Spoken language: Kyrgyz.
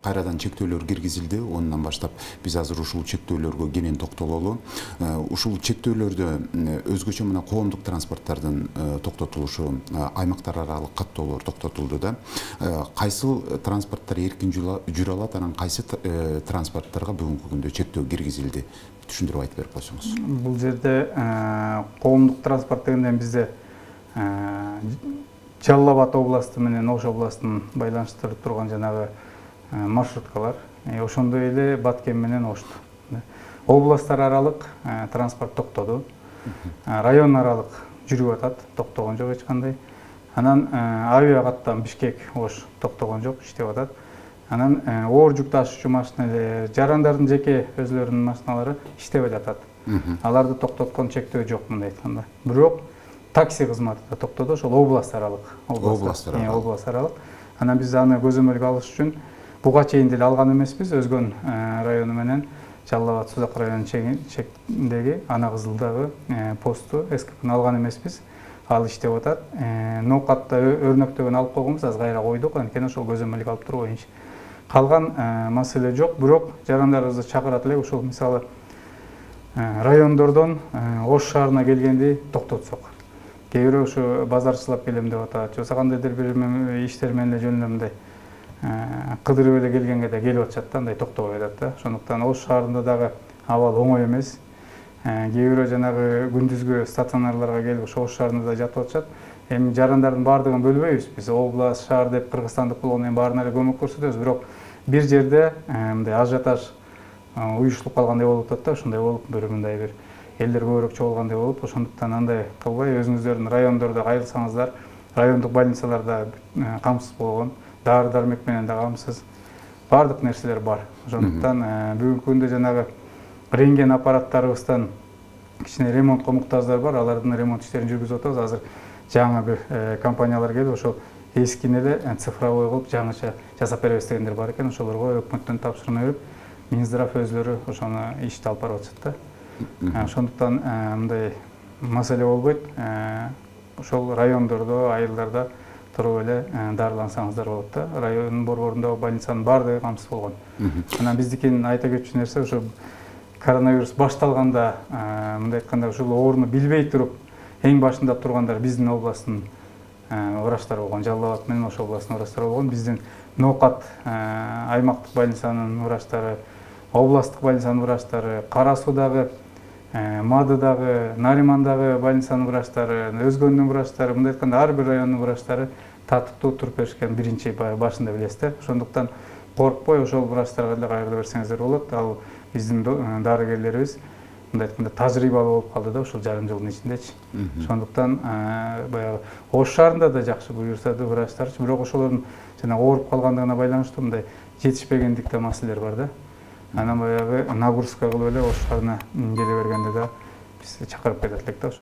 кайрадан чектөөлөр киргизилди. Ондан баштап биз азыр ушул чектөөлөргө кенен токтололу. Ушул чектөөлөрдө өзгөчө мына коомдук транспорттардын токтотулушу, аймактар аралык каттоолор токтотулду да. Кайсыл транспорттар эркин жүрө алат, анан кайсы транспорттарга бүгүнкү күндө чектөө киргизилди? Түшүндүрүп айтып берип койсоңуз. Бул жерде коомдук транспорт дегенде бизде Жалал Абад областы менен Ош областын байланыштырып турган жанагы маршруткалар, ошондой эле Баткен менен Ошту. Областтар аралык транспорт токтоду. Район аралык жүрүп атат, токтогон жок эч кандай. Анан авиа каттам Бишкек, Ош токтогон жок, иштеп атат. Анан оор жүк ташуучу машиналар, жарандардын жеке өзлөрүнүн машиналары иштебей жатат. Аларды токтоткон чектөө жок мындай айтканда. Бирок такси кызматы да токтоду, ошол област аралык. Област аралык. Анан биз аны көзөмөлгө алыш үчүн буга чейин деле алган эмеспиз. Өзгөн району менен Жалал Абад Сузак районунун чегиндеги Ана Кызылдагы посту СКПны алган эмеспиз. Ал иштеп атат. Ноокатта өрнөктөгөн алып койгонбуз, аз кайра койдук, анткени ошол көзөмөлгө алып туруп коюнчу. Калган маселе жок, бирок жарандарыбызды чакырат элек, ушул мисалы райондордон Ош шаарына келгенди токтотсок. Кээ бирөө ушу базарчылап келем деп атат, же кандайдыр бир иштер менен эле жөн эле мындай кыдырып эле келгенге да келип атышат да, андай токтобой атат да. Ошондуктан Ош шаарында дагы абал оңой эмес. Кээ бирөө жанагы күндүзгү стационарларга келип ошо Ош шаарында да жатып атышат. Эми жарандардын баардыгын бөлбөйбүз. Биз област, шаар деп кыргызстандык болгондон кийин баарына эле көмөк көрсөтөбүз, бирок бир жерде мындай ажиотаж уюштуруп калгандай болуп атат да, ошондой болуп бир мындай бир элдер көбүрөөк чогулгандай болуп, ошондуктан андай кылбай өзүңүздөрдүн райондордо кайрылсаңыздар, райондук больницаларда камсыз болгон, дары-дармек менен да камсыз, баардык нерселер бар. Ошондуктан бүгүнкү күндө жанагы рентген аппараттарыбыздан кичине ремонтко муктаждар бар, алардын ремонт иштерин жүргүзүп атабыз. Азыр жаңы бир компаниялар келип, ошол эскини эле цифровой кылып жаңыча жасап беребиз дегендер бар экен. Ошолорго өкмөттөн тапшырма берип, Минздрав өзлөрү ошону ишти алып барып атышат да. Ошондуктан мындай маселе болбойт. Ошол райондордо, айылдарда туруп эле дарылансаңыздар болот да. Район борборунда больницанын баардыгы камсыз болгон. Анан биздикин айта кетчү нерсе, ошо коронавирус башталганда, мындай айтканда, ушул ооруну билбей туруп эң башында тургандар биздин областтын врачтары болгон, Жалал Абад менен Ош областынын врачтары болгон. Биздин Ноокат аймактык больницанын врачтары, областтык больницанын врачтары, Кара Суудагы, Мадыдагы, Наримандагы больницанын врачтары, Өзгөндүн врачтары, мындай айтканда ар бир райондун врачтары татыктуу туруп беришкен биринчи башында билесиздер. Ошондуктан коркпой ошол врачтарга деле кайрыла берсеңиздер болот. Ал биздин дарыгерлерибиз мындай айтканда тажрыйбалуу болуп калды да ушул жарым жылдын ичиндечи. Ошондуктан баягы Ош шаарында да жакшы буюрса да врачтарчы, бирок ошолордун жана ооруп калгандыгына байланыштуу мындай жетишпегендикте маселелер бар да. Анан баягы нагрузка кылып эле Ош шаарына келе бергенде да биз чакырып кетет элек да.